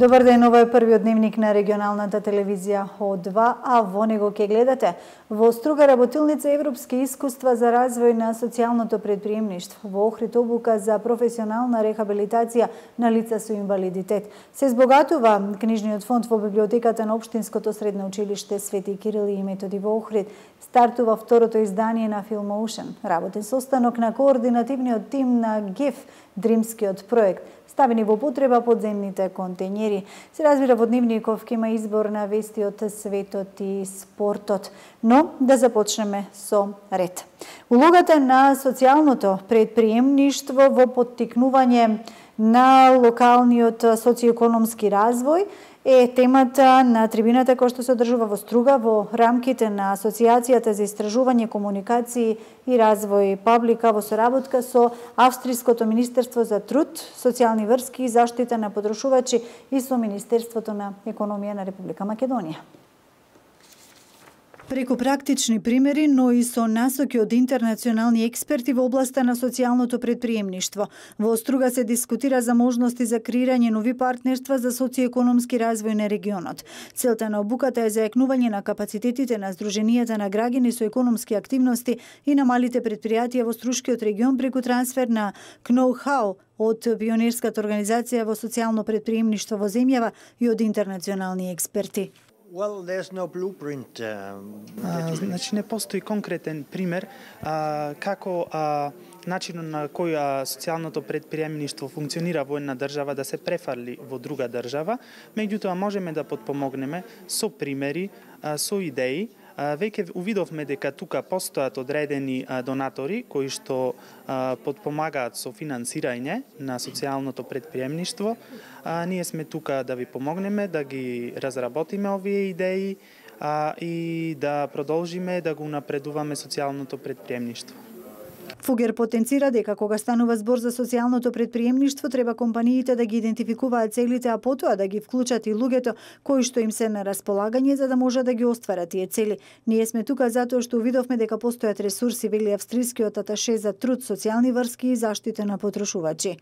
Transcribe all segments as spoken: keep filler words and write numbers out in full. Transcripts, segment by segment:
Добар ден, ова е првиот дневник на регионалната телевизија О два, а во него ќе гледате: во Струга работилница европски искуства за развој на социјалното предприемништво, во Охрид обука за професионална рехабилитација на лица со инвалидитет. Се збогатува книжниот фонд во библиотеката на Општинското средно училиште Свети Кирил и Методи во Охрид. Стартува второто издание на Filmocean, работен состанок на координативниот тим на ГЕФ, Дримскиот проект. Ставени во потреба подземните контењери. Се разбира, во дневников ќе има избор на вести од светот и спортот. Но да започнеме со ред. Улогата на социјалното предприемништво во поттикнување на локалниот социјекономски развој е темата на трибината која што се одржува во Струга во рамките на Асоциацијата за истражување, комуникации и развој Паблика во соработка со Австриското министерство за труд, социјални врски и заштита на потрошувачи и со Министерството на економија на Република Македонија. Преку практични примери, но и со насоки од интернационални експерти во областа на социјалното предприемништво, во Струга се дискутира за можности за креирање нови партнерства за социјекономски развој на регионот. Целта на обуката е зајакнување на капацитетите на здруженијата на граѓани со економски активности и на малите предпријатија во Струшкиот регион преку трансфер на know-how од пионерската организација во социјално предприемништво во земјава и од интернационални експерти. Well, there's no blueprint. Uh, а, значи не постои конкретен пример а, како а, начинот на кој а, социјалното предприемништво функционира во една држава да се префарли во друга држава, меѓутоа можеме да потпомогнеме со примери, а, со идеи. Веќе увидовме дека тука постојат одредени донатори кои што потпомагаат со финансирање на социјалното предприемништво. Ние сме тука да ви помогнеме, да ги разработиме овие идеи и да продолжиме да го напредуваме социјалното предприемништво. Фугер потенцира дека кога станува збор за социјалното предприемништво, треба компаниите да ги идентификуваат целите, а потоа да ги вклучат и луѓето кои што им се на располагање за да може да ги остварат тие цели. Ние сме тука затоа што увидовме дека постојат ресурси, вели австрискиот аташе за труд, социјални врски и заштита на потрошувачи.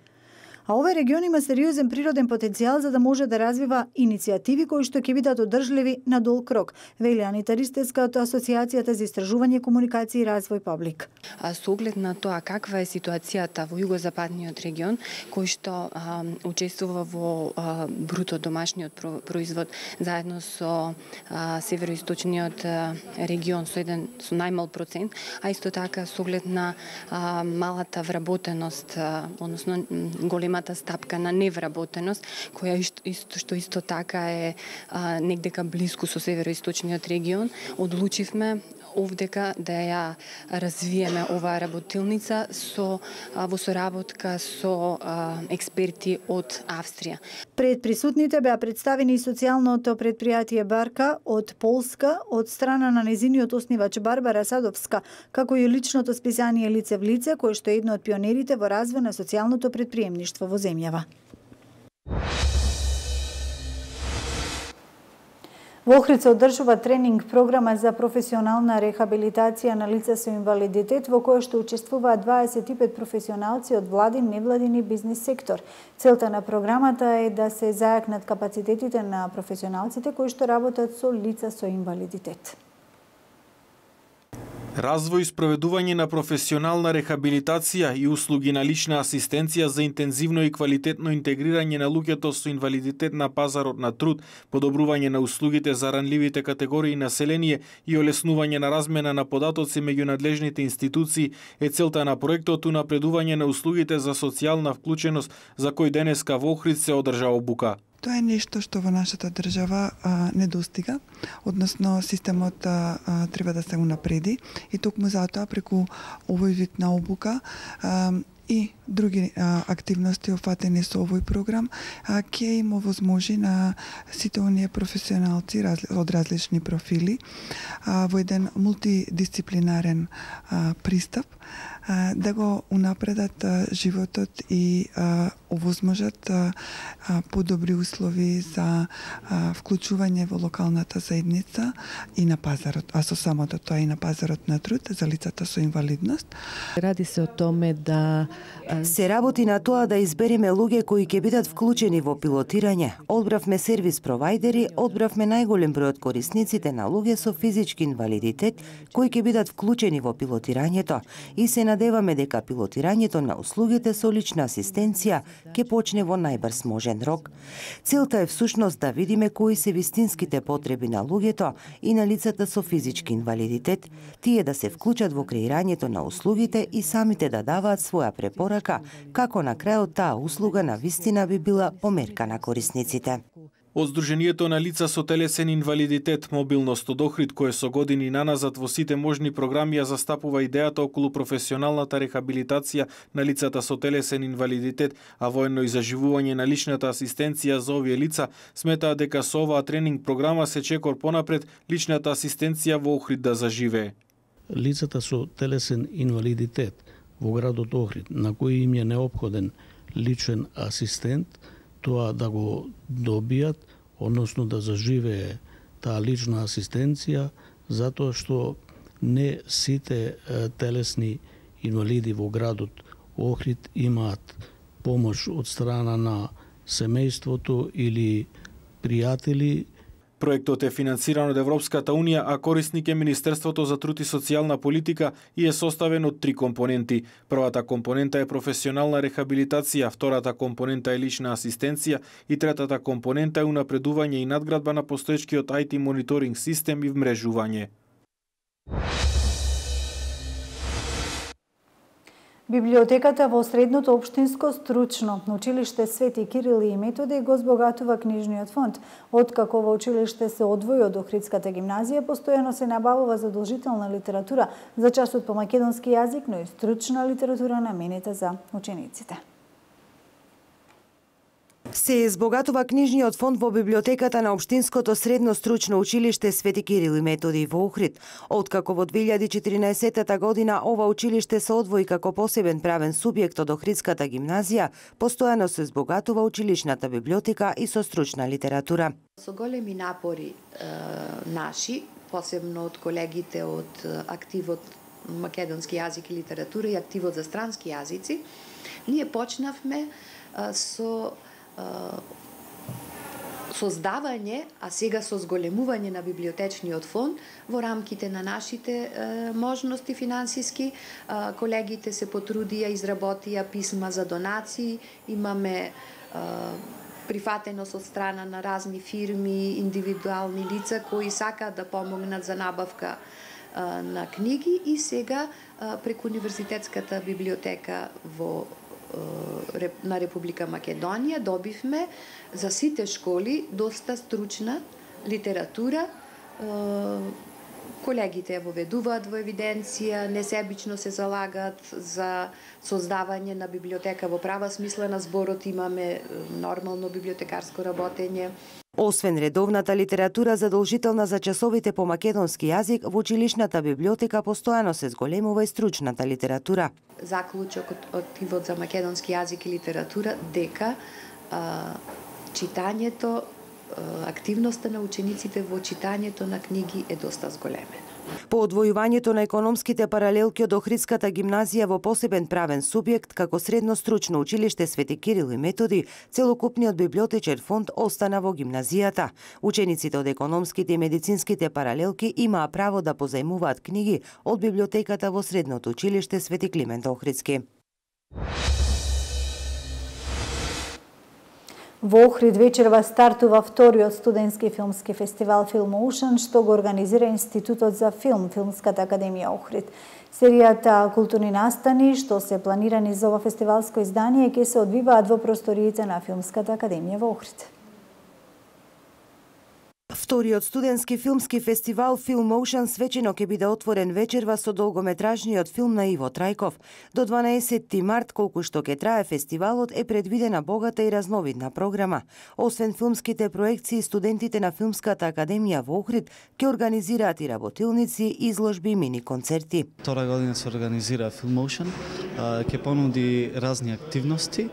А овој регион има сериозен природен потенцијал за да може да развива иницијативи кои што ќе бидат одржливи на долг рок, вели Анита Ристевска од Асоциацијата за истражување, комуникации и развој Паблик. А со оглед на тоа каква е ситуацијата во југозападниот регион, кој што а, учествува во а, бруто домашниот производ заедно со а, североисточниот а, регион со еден со најмал процент, а исто така со оглед на а, малата вработеност, а, односно голема стапка на невработеност, која исто што исто така е а, негдека блиску со североисточниот регион, одлучивме овдека да ја развиеме оваа работилница со а, во соработка со а, експерти од Австрија. Пред присутните беа представени и социјалното предпријатие Барка од Полска од страна на незиниот основач Барбара Садовска, како и личното списание Лице в лице, кое што е едно од пионерите во развој на социјалното предприемништво во земјава. Во Охрид се одржува тренинг програма за професионална рехабилитација на лица со инвалидитет, во која што учествуваат дваесет и пет професионалци од владин, невладин и бизнис сектор. Целта на програмата е да се зајакнат капацитетите на професионалците кои што работат со лица со инвалидитет. Развој и спроведување на професионална рехабилитација и услуги на лична асистенција за интензивно и квалитетно интегрирање на луѓето со инвалидитет на пазарот на труд, подобрување на услугите за ранливите категории население и олеснување на размена на податоци меѓу надлежните институции е целта на проектот унапредување на услугите за социјална вклученост за кој денеска во Охрид се одржа обука. Тоа е нешто што во нашата држава а, не достига, односно системот а, а, треба да се унапреди и токму затоа преку овој вид на обука а, и други а, активности офатени со овој програм а, ќе им овозможи на сите оние професионалци раз, од различни профили а, во еден мултидисциплинарен а, пристап а, да го унапредат а, животот и а, овозможат а, а, подобри услови за а, вклучување во локалната заедница и на пазарот, а со самото тоа и на пазарот на труд за лицата со инвалидност. Ради се о томе да Се работи на тоа да избереме луѓе кои ќе бидат вклучени во пилотирање. Одбравме сервис провајдери, одбравме најголем број од корисниците на луѓе со физички инвалидитет кои ќе бидат вклучени во пилотирањето и се надеваме дека пилотирањето на услугите со лична асистенција ќе почне во најбрз можен рок. Целта е всушност да видиме кои се вистинските потреби на луѓето и на лицата со физички инвалидитет, тие да се вклучат во креирањето на услугите и самите да даваат своја препорака, како на крајот таа услуга на вистина би била померка на корисниците. Од Сдруженијето на лица со телесен инвалидитет Мобилност од Охрид, кое со години наназад во сите можни програми ја застапува идејата околу професионалната рехабилитација на лицата со телесен инвалидитет, а воено и заживување на личната асистенција за овие лица, сметаат дека со оваа тренинг програма се чекор понапред личната асистенција во Охрид да заживее. Лицата со телесен инвалидитет во градот Охрид, на кои им е неопходен личен асистент, тоа да го добијат, односно да заживее таа лична асистенција, затоа што не сите телесни инвалиди во градот Охрид имаат помош од страна на семејството или пријатели. Проектот е финансиран од Европската Унија, а корисник е Министерството за труд и социјална политика и е составен од три компоненти. Првата компонента е професионална рехабилитација, втората компонента е лична асистенција и третата компонента е унапредување и надградба на постоечкиот ај ти мониторинг систем и вмрежување. Библиотеката во Средното општинско стручно училиште Свети Кирил и Методи го збогатува книжниот фонд. Откако во училиште се одвои од Охридската гимназија, постојано се набавува задолжителна литература за часот по македонски јазик, но и стручна литература наменита за учениците. Се збогатува книжниот фонд во библиотеката на Општинското средно стручно училиште Свети Кирил и Методи во Охрид. Откако во две илјади и четирнаесетта година ова училиште се одвои како посебен правен субјект од Охридската гимназија, постојано се збогатува училишната библиотека и со стручна литература. Со големи напори е, наши, посебно од колегите од активот македонски јазик и литература и активот за странски јазици, ние почнавме е, со создавање, а сега со зголемување на библиотечниот фонд во рамките на нашите е, можности финансиски. Е, колегите се потрудија, изработија писма за донации, имаме е, прифатеност од страна на разни фирми, индивидуални лица кои сакаат да помогнат за набавка е, на книги и сега е, преку Универзитетската библиотека во на Република Македонија добивме за сите школи доста стручна литература. Колегите ја воведуваат во евиденција, несебично се залагаат за создавање на библиотека во права смисла на зборот, имаме нормално библиотекарско работење. Освен редовната литература задолжителна за часовите по македонски јазик, во училишната библиотека постојано се зголемува и стручната литература. Заклучок од активот за македонски јазик и литература дека а, читањето, а, активноста на учениците во читањето на книги е доста зголемена. По одвојувањето на економските паралелки од Охридската гимназија во посебен правен субјект како средно стручно училиште Свети Кирил и Методи, целокупниот библиотечен фонд остана во гимназијата. Учениците од економските и медицинските паралелки имаа право да позајмуваат книги од библиотеката во средното училиште Свети Климент Охридски. Во Охрид вечерва стартува вториот студентски филмски фестивал Filmocean, што го организира Институтот за филм, Филмската академија Охрид. Серијата културни настани што се планирани за ова фестивалско издание ќе се одвиваат во просториите на Филмската академија во Охрид. Вториот студентски филмски фестивал Filmocean свечено ќе биде отворен вечерва со долгометражниот филм на Иво Трајков. До дванаесетти март, колку што ќе трае фестивалот, е предвидена богата и разновидна програма. Освен филмските проекции, студентите на Филмската академија во Охрид ќе организираат и работилници, изложби и мини концерти. Втора година се организира Filmocean, ќе понуди разни активности.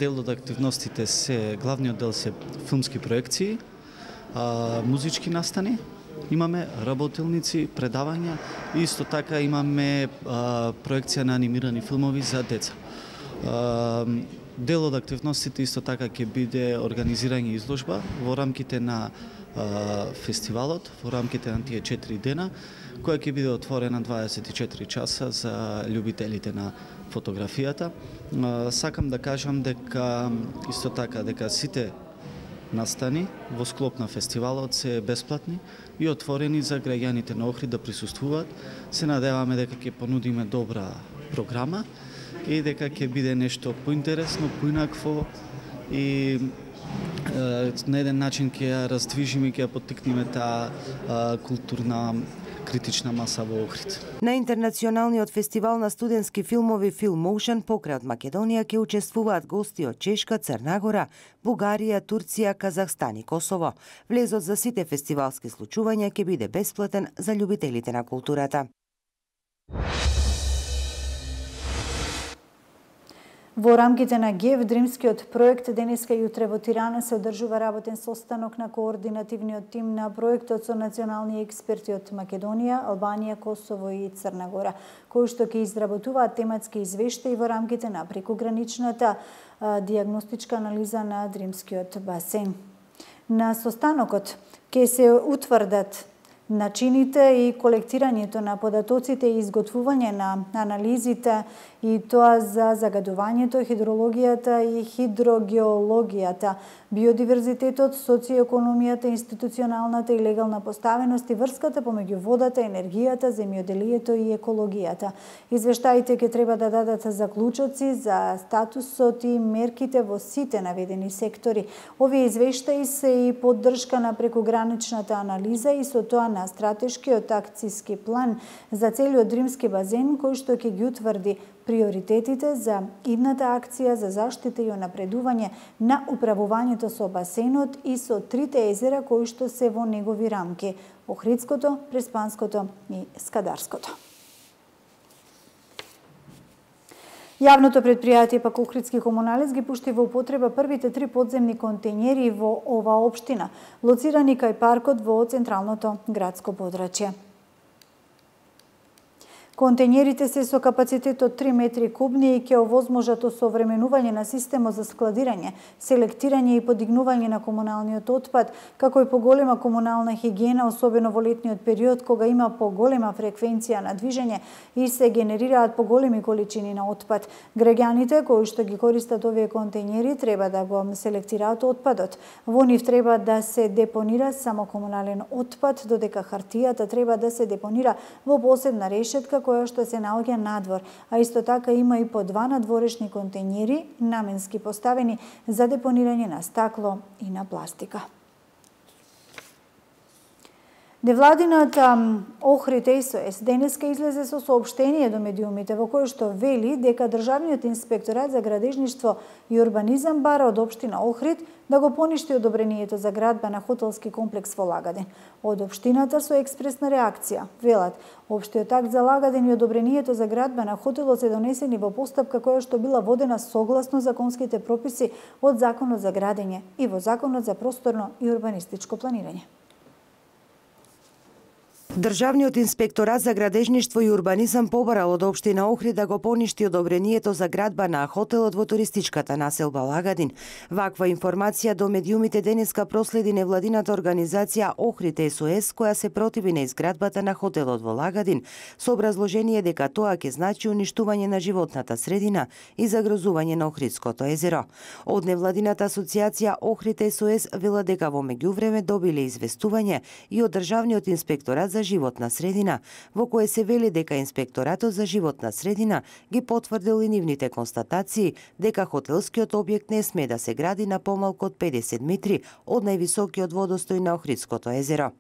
Дел од активностите се, главниот дел се филмски проекции, музички настани, имаме работилници, предавања и исто така имаме а, проекција на анимирани филмови за деца. Дел од активностите исто така ќе биде организирање изложба во рамките на фестивалот, во рамките на тие четири дена, која ќе биде отворена дваесет и четири часа за љубителите на фотографијата. Сакам да кажам дека исто така дека сите настани во склоп на фестивалот се бесплатни и отворени за граѓаните на Охрид да присуствуваат. Се надеваме дека ќе понудиме добра програма и дека ќе биде нешто поинтересно, поинакво и на еден начин ќе ја раздвижиме, ќе ја поттикнеме таа културна критична маса во Охрид. На интернационалниот фестивал на студентски филмови Filmotion покрај од Македонија ќе учествуваат гости од Чешка, Црна Гора, Бугарија, Турција, Казахстан и Косово. Влезот за сите фестивалски случувања ќе биде бесплатен за љубителите на културата. Во рамките на ГЕВ, Дримскиот проект, денеска и утре во Тирана се одржува работен состанок на координативниот тим на проектот со национални експерти од Македонија, Албанија, Косово и Црна Гора, кои што ќе изработуваат тематски извештаи во рамките на прекограничната диагностичка анализа на Дримскиот басен. На состанокот ќе се утврдат начините и колектирањето на податоците и изготвување на анализите, и тоа за загадувањето, хидрологијата и хидрогеологијата, биодиверзитетот, социоекономијата, институционалната и легална поставеност и врската помеѓу водата, енергијата, земјоделието и екологијата. Извештаите ќе треба да дадат заклучоци за статусот и мерките во сите наведени сектори. Овие извештаи се и поддршка на прекограничната анализа и со тоа на стратешкиот акцијски план за целиот Дримски базен, кој што ќе ги утврди приоритетите за идната акција за заштита и унапредување на управувањето со басенот и со трите езера кои што се во негови рамки – Охридското, Преспанското и Скадарското. Јавното предпријатие пак Охридски комуналец ги пушти во употреба првите три подземни контејнери во ова општина, лоцирани кај паркот во централното градско подрачје. Контејнерите се со капацитет од три метри кубни и ќе овозможат осовременување на системот за складирање, селектирање и подигнување на комуналниот отпад, како и поголема комунална хигиена, особено во летниот период, кога има поголема фреквенција на движење и се генерираат поголеми количини на отпад. Граѓаните кои што ги користат овие контејнери треба да го селектираат отпадот. Во нив треба да се депонира само комунален отпад, додека хартијата треба да се депонира во посебна решетка која што се наоѓа надвор, а исто така има и по два надворешни контејнери наменски поставени за депонирање на стакло и на пластика. Невладината Охрид СОС денеска излезе со соопштение до медиумите во кое што вели дека Државниот инспекторат за градежништво и урбанизам бара од општина Охрид да го поништи одобрението за градба на хотелски комплекс во Лагадин. Од општината со експресна реакција велат, општиот акт за Лагадин и одобрението за градба на хотелот се донесени во постапка која што била водена согласно законските прописи од Законот за градење и во Законот за просторно и урбанистичко планирање. Државниот инспекторат за градежништво и урбанизам побарал од општина Охрид да го поништи одобрението за градба на хотелот во туристичката населба Лагадин. Ваква информација до медиумите денеска проследи невладината организација Охрид СОС, која се противи на изградбата на хотелот во Лагадин, со образложение дека тоа ќе значи уништување на животната средина и загрозување на Охридското езеро. Од невладината асоциација Охрид СОС вела дека во меѓувреме добиле известување и од Државниот инспекторат за животна средина, во кое се вели дека Инспекторатот за животна средина ги потврдил и нивните констатации дека хотелскиот објект не сме да се гради на помалку од педесет метри од највисокиот водостој на Охридското езеро.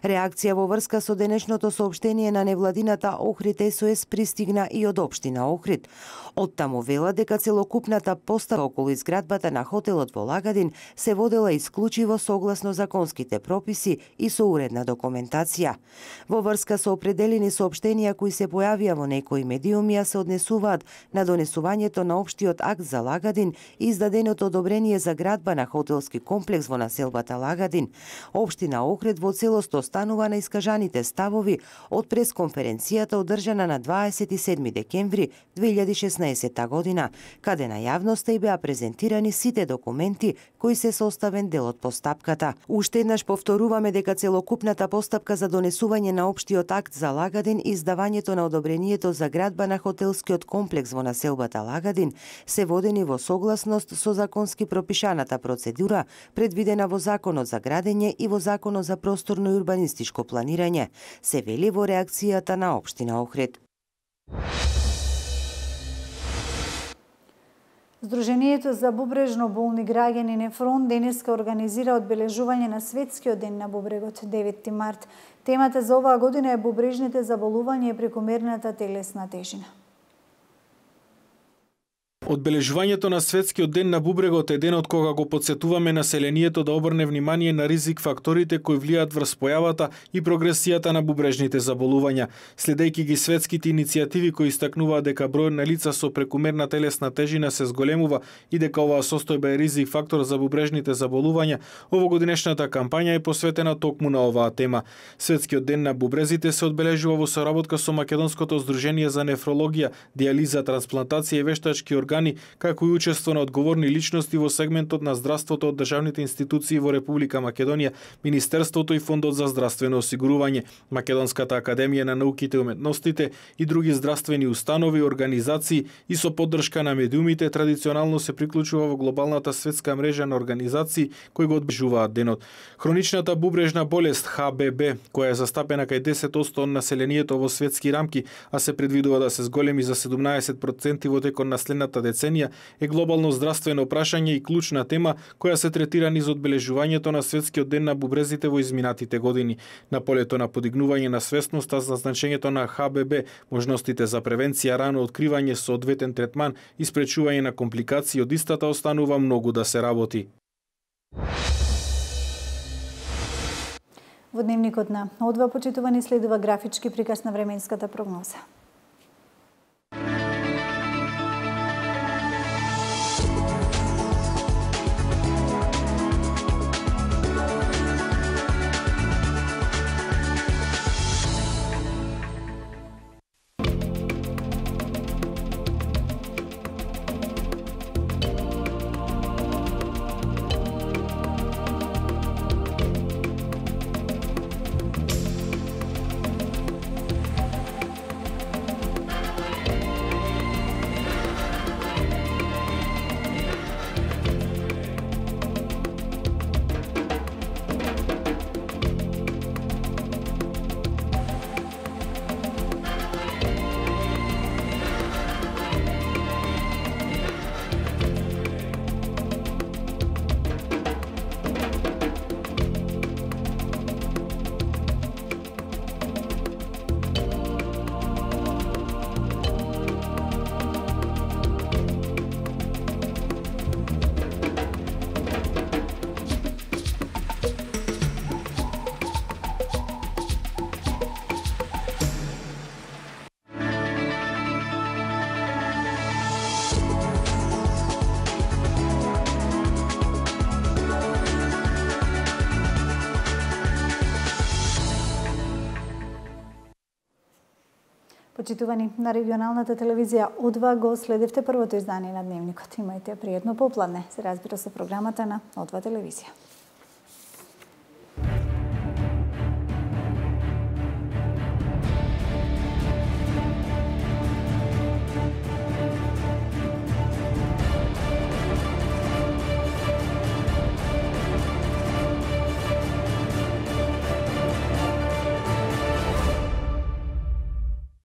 Реакција во врска со денешното соопштение на невладината Охрид СОС пристигна и од општина Охрид. Од таму вела дека целокупната постава околу изградбата на хотелот во Лагадин се водела исклучиво согласно законските прописи и со уредна документација. Во врска со определени соопштенија кои се појавија во некои медиуми, се однесуваат на донесувањето на општиот акт за Лагадин и издаденото одобрение за градба на хотелски комплекс во населбата Лагадин. Општина Охрид во целост останува на искажаните ставови од пресконференцијата одржана на дваесет и седми декември две илјади и шеснаесетта година, каде на јавноста и беа презентирани сите документи кои се составен дел од постапката. Уште еднаш повторуваме дека целокупната постапка за донесување на општиот акт за Лагадин и издавањето на одобрението за градба на хотелскиот комплекс во населбата Лагадин се водени во согласност со законски пропишаната процедура предвидена во Законот за градење и во Законот за просторно и урбанистичко планирање, се вели во реакцијата на општина Охрид. Сдруженијето за бубрежно болни граѓани Нефрон денеска организира одбележување на Светскиот ден на бубрегот деветти март. Темата за оваа година е бубрежните заболувања и прекомерната телесна тежина. Одбележувањето на Светскиот ден на бубрегот е денот кога го потсетуваме населението да обрне внимание на ризик факторите кои влијаат врз појавата и прогресијата на бубрежните заболувања. Следејќи ги светските иницијативи кои истакнуваат дека бројот на лица со прекумерна телесна тежина се зголемува и дека оваа состојба е ризик фактор за бубрежните заболувања, овогодинешната кампања е посветена токму на оваа тема. Светскиот ден на бубрезите се одбележува во соработка со Македонското здружение за нефрологија, дијализа, трансплантација и вештачки органи, како и учество на одговорни личности во сегментот на здравството од државните институции во Република Македонија, Министерството и Фондот за здравствено осигурување, Македонската академија на науките и уметностите и други здравствени установи и организации и со поддршка на медиумите традиционално се приклучува во глобалната светска мрежа на организации кои го одбележуваат денот. Хроничната бубрежна болест Х Б Б, која е застапена кај десет одсто од населението во светски рамки, а се предвидува да се зголеми за седумнаесет проценти во текот на следната деценија, е глобално здравствено прашање и клучна тема која се третира низ одбележувањето на Светскиот ден на бубрезите во изминатите години. На полето на подигнување на свесноста за значењето на Х Б Б, можностите за превенција, рано откривање, соодветен третман и спречување на компликации од истата останува многу да се работи. Во дневникот на О два почитувани следува графички приказ на временската прогноза. Почитувани, на регионалната телевизија О два го следевте првото издание на Дневникот. Имајте пријатно попладне. Се разбира со програмата на О два телевизија.